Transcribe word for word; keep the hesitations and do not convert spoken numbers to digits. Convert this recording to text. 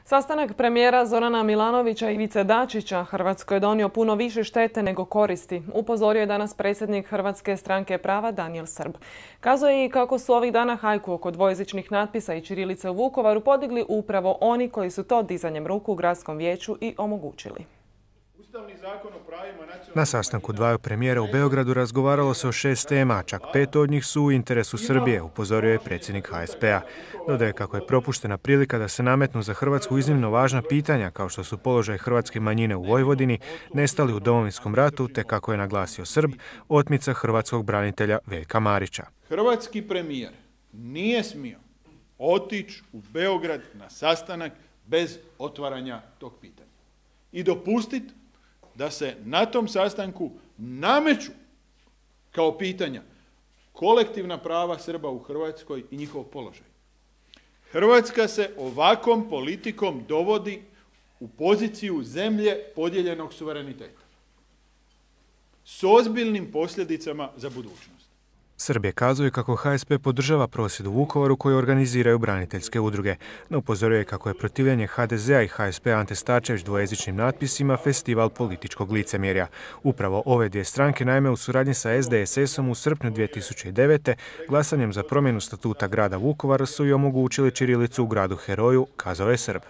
Sastanak premijera Zorana Milanovića i Ivice Dačića Hrvatskoj je donio puno više štete nego koristi, upozorio je danas predsjednik Hrvatske stranke prava Danijel Srb. Kazao je i kako su ovih dana hajku oko dvojezičnih natpisa i ćirilice u Vukovaru podigli upravo oni koji su to dizanjem ruku u gradskom vijeću i omogućili. Na sastanku dvaju premijera u Beogradu razgovaralo se o šest tema, čak pet od njih su u interesu Srbije, upozorio je predsjednik H S P-a. Dodaje kako je propuštena prilika da se nametnu za Hrvatsku iznimno važna pitanja, kao što su položaj hrvatske manjine u Vojvodini, nestali u Domovinskom ratu, te kako je naglasio Srb, otmica hrvatskog branitelja Veljka Marića. Hrvatski premijer nije smio otići u Beograd na sastanak bez otvaranja tog pitanja i dopustiti da se na tom sastanku nameću kao pitanja kolektivna prava Srba u Hrvatskoj i njihov položaj. Hrvatska se ovakvom politikom dovodi u poziciju zemlje podijeljenog suvereniteta s ozbiljnim posljedicama za budućnost. Srb je kazao kako H S P podržava prosvjed u Vukovaru koji organiziraju braniteljske udruge, no upozoruje kako je protivljenje H D Z-a i H S P-a Ante Starčević dvojezičnim natpisima festival političkog licemjerja. Upravo ove dvije stranke naime u suradnji sa S D S S-om u srpnju dvije tisuće devete. glasanjem za promjenu statuta grada Vukovara su i omogućili ćirilicu u gradu heroju, kazao je Srb.